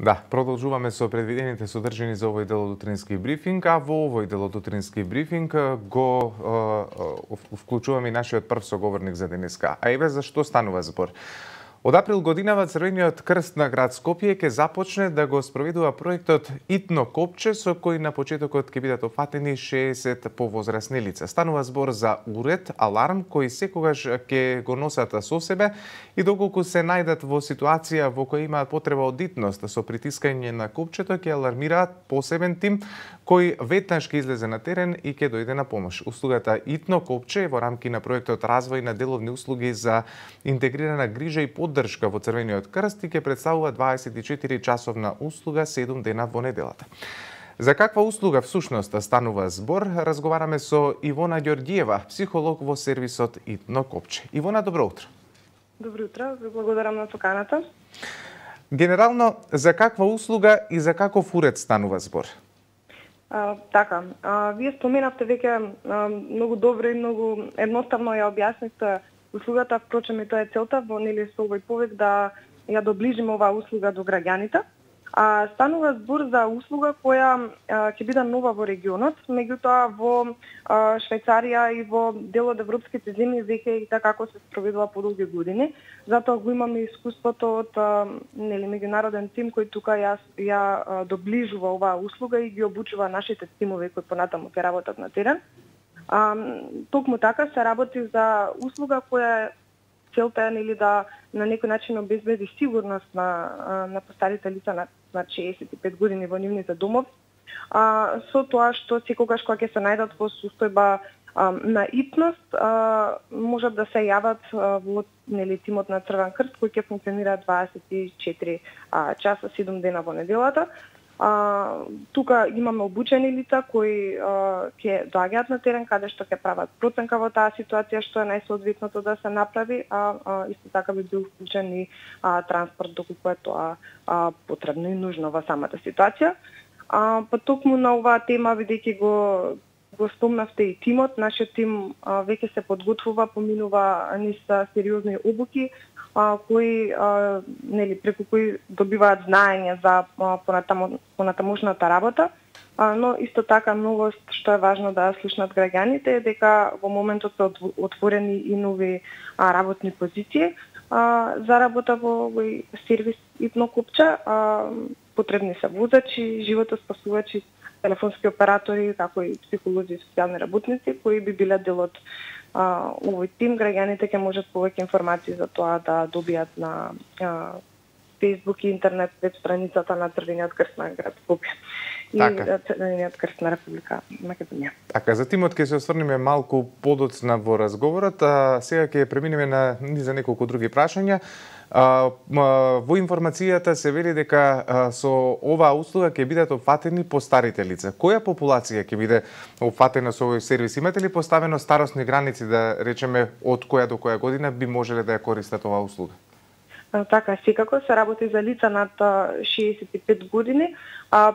Да, продолжуваме со предвидените содржини за овој дел од утрински брифинг, а во овој дел од утрински брифинг го вклучуваме и нашиот прв соговорник за денеска. А еве за што станува збор. Од април годинава Црвениот крст на град Скопје ќе започне да го спроведува проектот Итно копче, со кој на почетокот ќе бидат опфатени 60 повозрасни лица. Станува збор за уред, аларм, кој секогаш ќе го носат со себе и доколку се најдат во ситуација во која имаат потреба од итност со притискање на копчето, ќе алармираат посебен тим кој веднаш ќе излезе на терен и ќе дојде на помош. Услугата Итно копче е во рамки на проектот Развој на деловни услуги за интегрирана грижа и поддршка во Црвениот крст и ќе представува 24 часовна услуга 7 дена во неделата. За каква услуга всушност станува збор, разговараме со Ивона Ѓорѓиева, психолог во сервисот Итно копче. Ивона, добро утро. Добро утро, ви благодарам на поканата. Генерално, за каква услуга и за каков уред станува збор? Вие споменавте веќе многу добро и многу едноставно ја објаснивте услугата, впрочем и тоа е целта во со овој повик да ја доближиме оваа услуга до граѓаните. Станува збор за услуга која ќе биде нова во регионот, меѓутоа во Швајцарија и во дел од европските земји веќе и така како се спроведува подолги години. Затоа го имаме искуството од меѓународен тим кој тука ја доближува оваа услуга и ги обучува нашите тимови кои понатаму ќе работат на терен. Токму така се работи за услуга која целта е да на некој начин обезбеди сигурност на постарите лица на 65 години во нивните домови. Со тоа што секогаш кога ќе се најдат во состојба на итност, можат да се јават во тимот на Црвен крст кој ќе функционира 24 часа 7 дена во неделата. Тука имаме обучени лица кои ќе доаѓаат на терен каде што ќе прават проценка во таа ситуација што е најсоодветното да се направи, исто така би бил вклучен и транспорт доколку е тоа потребно и нужно во самата ситуација. Па токму на оваа тема, бидејќи го спомнавте и тимот, нашиот тим веќе се подготвува, поминува низ сериозни обуки преку кои добиваат знаење за понатамошната работа, но исто така новост што е важно да слушнат граѓаните е дека во моментот се отворени и нови работни позиции за работа во овој сервис Итно копче. Потребни се возачи, животоспасувачи, телефонски оператори, како и психолози и социјални работници кои би биле дел од овој тим. Граѓаните ќе можат повеќе информации за тоа да добијат на Facebook и интернет веб страницата на Црвениот крст на град Скопје и Црвениот крст на Република Македонија. Така, за тимот ќе се осврнеме малку подоцна во разговорот, а сега ќе преминеме на за неколку други прашања. Во информацијата се вели дека со оваа услуга ќе бидат опфатени постарите лица. Која популација ќе биде опфатена со овој сервис? Имате ли поставено старосни граници, да речеме, од која до која година би можеле да ја користат оваа услуга? Така, секако се работи за лица над 65 години.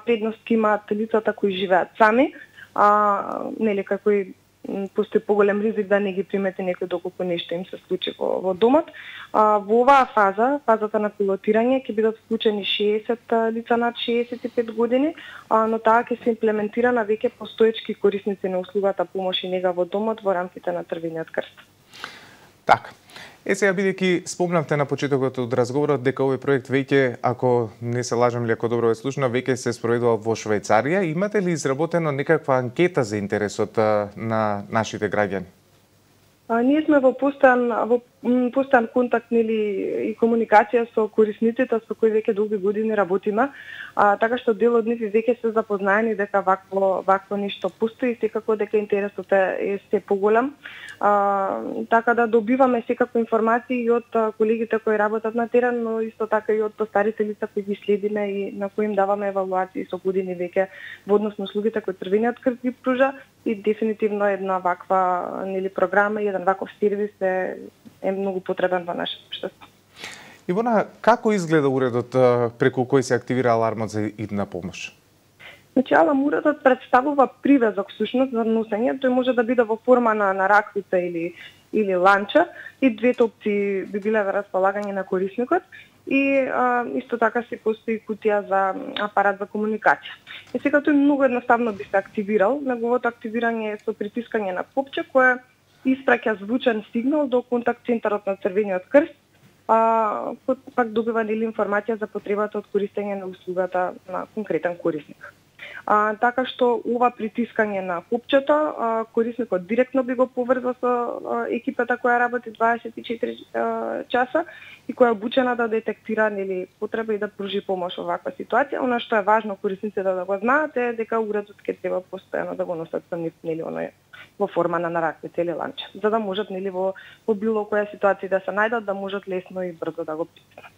Предност имаат лицата кои живеат сами, како постои поголем ризик да не ги примети некој доколку нешто им се случи во домот. Во оваа фазата на пилотирање, ќе бидат вклучени 60 лица над 65 години, но таа ќе се имплементира на веќе постоечки корисници на услугата помош и нега во домот во рамките на Црвениот крст. Така. Сега, бидејќи спомнавте на почетокот од разговорот дека овој проект веќе, ако не се лажам или ако добро е слушно, веќе се спроведува во Швајцарија. Имате ли изработено некаква анкета за интересот на нашите граѓани? Ние сме во постојан контакт и комуникација со корисниците со кои веќе долги години работиме, така што дел од нив веќе се запознаени дека вакво нешто постои и секако дека интересот е се поголем. Така да добиваме секако информации и од колегите кои работат на терен, но исто така и од постарите лица кои ги следиме и на кои им даваме евалуации со години веќе во однос на услугите кои Црвениот крст ги пружа и дефинитивно една ваква програма и еден ваков сервис е многу потребен во нашето општество. Ивона, како изгледа уредот преку кој се активира алармот за идна помош? Уредот представува привезок всушност за носење. Тој може да биде во форма на раквица или ланча и двете опции би биле во располагање на корисникот. и исто така се постои кутија за апарат за комуникација. И сега тој многу едноставно би се активирал. Неговото активирање е со притискање на копче кое испраќа звучен сигнал до контакт центарот на Црвениот крст, пак добива информација за потребата од користење на услугата на конкретен корисник. Така што ова притискање на копчето, корисникот директно би го поврза со екипата која работи 24 часа и која е обучена да детектира потреба и да пружи помош во ваква ситуација. Она што е важно корисниците да го знаат е дека уредот ќе треба постојано да го носат со нив во форма на раквица или ланче, за да можат во било која ситуација да се најдат, да можат лесно и брзо да го пристигнат.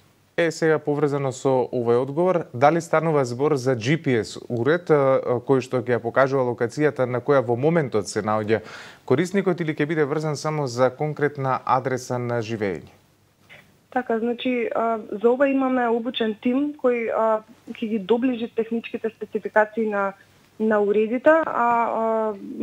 Сега поврзано со овој одговор, дали станува збор за GPS уред кој што ќе ја покажува локацијата на која во моментот се наоѓа корисникот или ќе биде врзан само за конкретна адреса на живење? Така, значи, за ова имаме обучен тим кој ќе ги доближи техничките спецификации на уредите,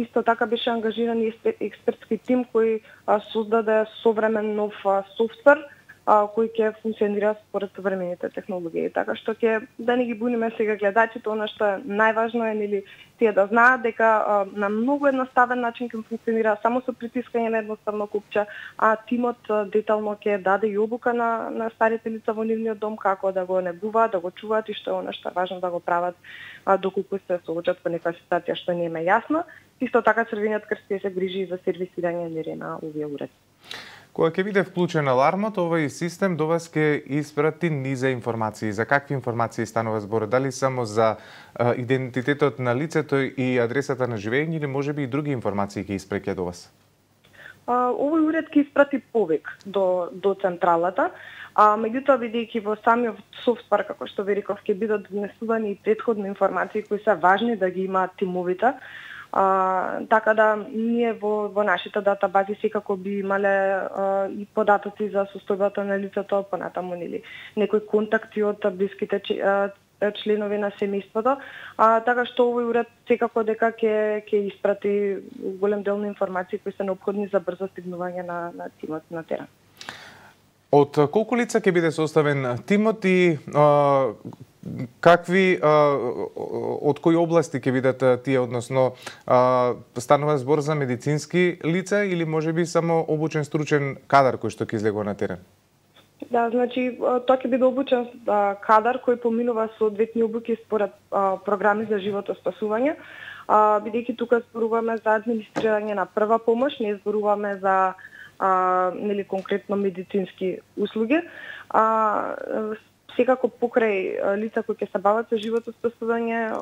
исто така беше ангажиран и експертски тим кој создаде современ нов софтвер кој ќе функционира според современите технологии. Така што ќе да не ги буниме сега гледачите, она што е најважно е тие да знаат дека на многу едноставен начин ќе функционира само со притискање на едноставно копче, а тимот детално ќе даде и обука на старите лица во нивниот дом како да го негуваат, да го чуваат и што е она што е важно да го прават доколку се соочат со некоја ситуација што не е јасна. Исто така Црвениот крст ќе се грижи за сервисирање на овие уреди. Кога ќе биде вклучен алармот, овој систем до вас ќе испрати низа информации. За какви информации станува збор? Дали само за идентитетот на лицето и адресата на живење или можеби и други информации ќе испреќа до вас? Овој уред ќе испрати повик до централата, меѓутоа бидејќи во самиот софтвер, како што ви реков, ќе бидат донесувани и претходни информации кои се важни да ги имаат тимовите. Така да ние во нашите датабази секако би имале и податоци за состојбата на лицето, понатаму некои контакти од блиските членови на семејството, така што овој уред секако дека ќе испрати голем дел на информации кои се неопходни за брзо стигнување на тимот на терен. Од колку лица ќе биде составен тимот и какви, од кои области ќе бидат тие, односно станува збор за медицински лица или можеби само обучен стручен кадар кој што ќе излегува на терен? Да, значи тоа ќе биде обучен кадар кој поминува соодветни обуки според програми за животоспасување, бидејќи тука зборуваме за администрирање на прва помош, не зборуваме за конкретно медицински услуги. Секако покрај лица кои ќе се бават со животоспасување,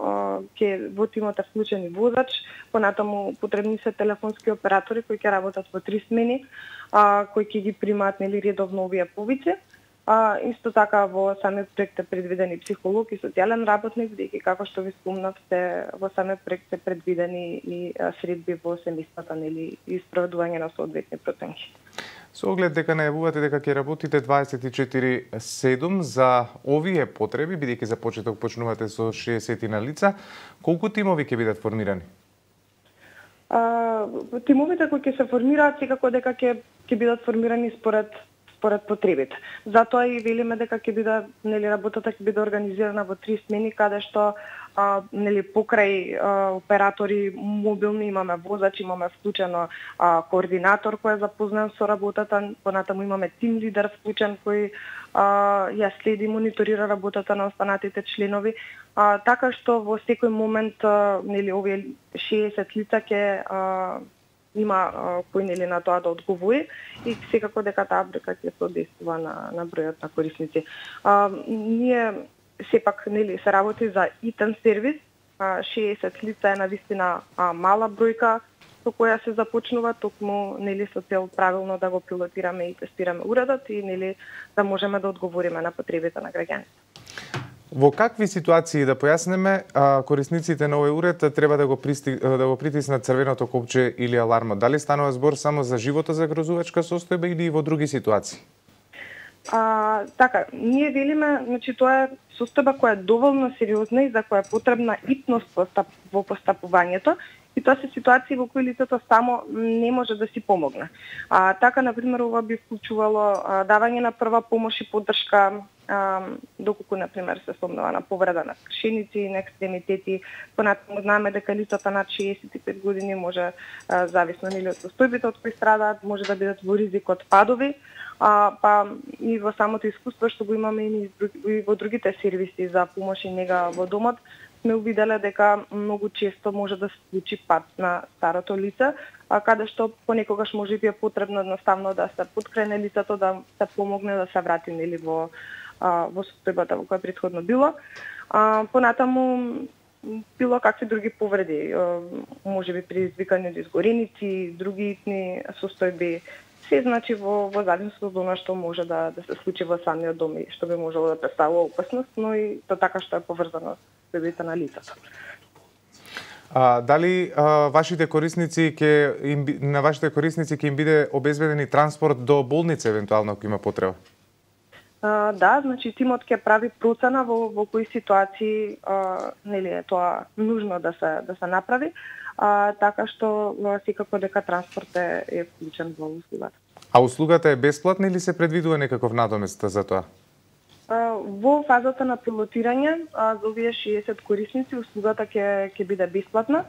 ќе во тимот е вклучен и возач, понатаму потребни се телефонски оператори кои ќе работат во 3 смени, кои ќе ги примаат редовно овие повици. Исто така во самиот проект е предвидени психолог и социјален работник, бидејќи како што ви спомнав, во самиот проект се предвидени и средби во семејствата и спроведување на соодветни проценки. Со оглед дека најавувате дека ќе работите 24/7 за овие потреби, бидејќи за почеток почнувате со 60 на лица, колку тимови ќе бидат формирани? Тимовите кои ќе се формираат секако дека ќе бидат формирани според потребите. Затоа и велиме дека ќе биде работата ќе биде организирана во 3 смени, каде што покрај оператори мобилни имаме возач, имаме вклучено координатор кој е запознат со работата, понатаму имаме тим лидер вклучен кој ја следи, мониторира работата на останатите членови, така што во секој момент овие 60 лица ќе има кој на тоа да одговори и секако дека таа бројка ќе соодветствува на бројот на корисници. Ние сепак се работи за итен сервис, 60 лица е навистина мала бројка со која се започнува, токму со цел правилно да го пилотираме и тестираме уредот и да можеме да одговориме на потребите на граѓаните. Во какви ситуации, да појаснеме, корисниците на овој уред треба да го притиснат црвеното копче или алармот? Дали станува збор само за животозагрозувачка состојба или и во други ситуации? Така, ние велиме, значи тоа е состојба која е доволно сериозна и за која е потребна итност во постапувањето, и тоа се ситуации во кои лицето само не може да си помогне. Така, например, ова би вклучувало давање на прва помош и поддршка доколку например се сомнува на повреда на кршеници, на екстремитети. Понатаму знаеме дека лицата над 65 години може, зависно нели од состојбите од кои страдаат, може да бидат во ризик од падови. Па и во самото искуство што го имаме и во другите сервиси за помош и нега во домот, сме увиделе дека многу често може да се случи пад на старото лице, каде што понекогаш може би е потребно едноставно да се поткрене лицето, да се помогне да се врати нели во состојбата во која претходно било. Понатаму било какви други повреди, може би предизвикани од изгореници, други итни состојби, се значи во зависност од она што може да се случи во самиот дом и што би можело да представува опасност, но и тоа така што е поврзано со состојбите на лицето. Дали вашите корисници ќе им биде обезбедени транспорт до болница евентуално ако има потреба? Да, значи тимот ќе прави процена во кои ситуации нели е тоа нужно да се направи, така што секако дека транспорт е вклучен во услугата. А услугата е бесплатна или се предвидува некаков надомест за тоа? Во фазата на пилотирање за овие 60 корисници услугата ќе биде бесплатна,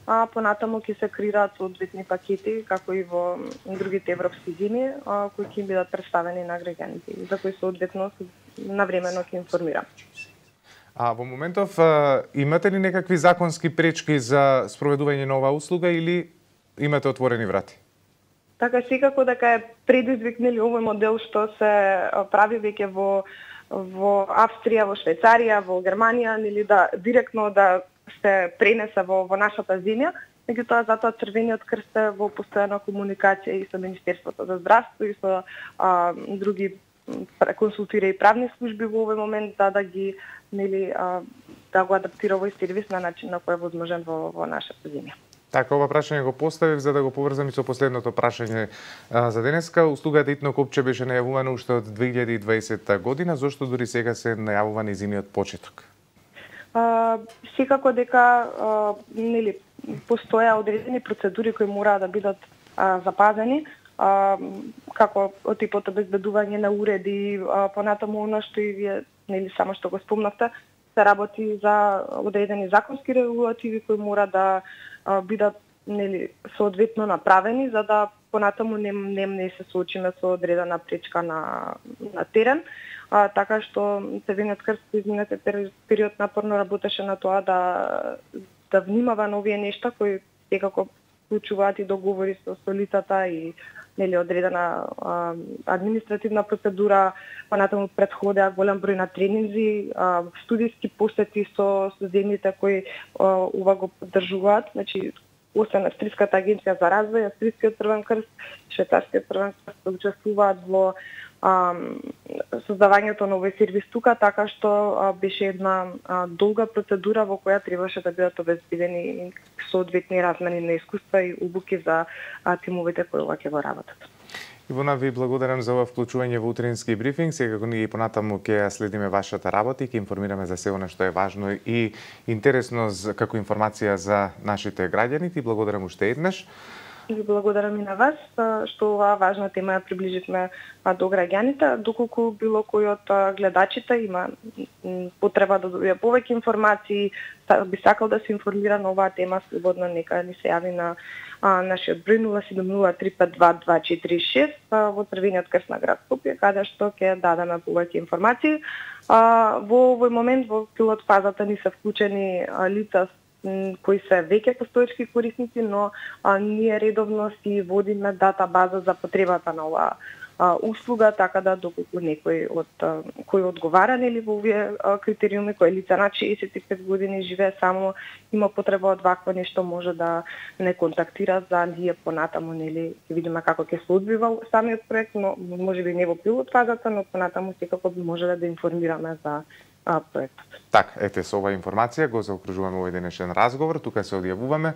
а понатаму ќе се креираат соодветни пакети, како и во другите европски земи, кои ќе бидат представени на граѓаните, за кои соодветно навремено ќе информирам. Во моментов имате ли некакви законски пречки за спроведување на оваа услуга или имате отворени врати? Така секако дека е предизвик нели овој модел што се прави веќе во Австрија, во Швајцарија, во Германија, нели да директно да се пренесе во нашата земја, меѓутоа затоа Црвениот крст е во постојана комуникација и со Министерството за здравство и со други консултира и правни служби во овој момент да ги нели да го адаптира овој сервис на начин на кој е возможен во нашата земја. Така, ова прашање го поставив за да го поврзам и со последното прашање за денеска. Услугата Итно копче беше најавувана уште од 2020 година, зошто дури сега се најавува нејзиниот почеток? Секако дека нели постоја одредени процедури кои мора да бидат запазени, како од типот обезбедување на уреди, понатаму она што и вие нели само што го спомнавте, се работи за одредени законски регулативи кои мора да бидат нели соодветно направени за да понатаму не се соочиме со одредена пречка на терен. Така што Црвениот крст изминатиот период напорно работеше на тоа да внимава на овие нешта кои секако вклучуваат и договори со лицата и нели одредена административна процедура, понатаму предходеа голем број на тренинзи, студиски посети со земјите кои ова го поддржуваат, значи освен Австриската агенција за развој, Австрискиот Црвен крст, Швајцарскиот Црвен крст учествуваат во создавањето на овој сервис тука, така што беше една долга процедура во која требаше да бидат обезбедени соодветни размени на искуства и обуки за тимовите кои ова ќе го работат. Ивона, ви благодарам за ова вклучување во утрински брифинг. Секако ние и понатаму ќе следиме вашата работа и ќе информираме за се она што е важно и интересно како информација за нашите граѓани. Ти благодарам уште еднаш. Ви благодарам и на вас што оваа важна тема ја приближивме до граѓаните, доколку било кој од гледачите има потреба да добие повеќе информации, би сакал да се информира на оваа тема, слободно нека ни се јави на нашиот број 070352246 во Црвениот крст на град Скопје, каде што ќе дадеме повеќе информации. Во овој момент во пилот фазата ни се вклучени лица кои се веќе постоечки корисници, но ние редовно си водиме дата база за потребата на оваа услуга, така да доколку некој кој одговара нели во овие критериуми, кој лица над 65 години живее само, има потреба од вакво нешто, може да не контактира за ние понатаму нели ќе видиме како ќе се одвива самиот проект, но можеби не во пилот фазата, но понатаму секако може да информираме за проектот. Така, ете со оваа информација го заокружуваме овој денешен разговор, тука се одјавуваме.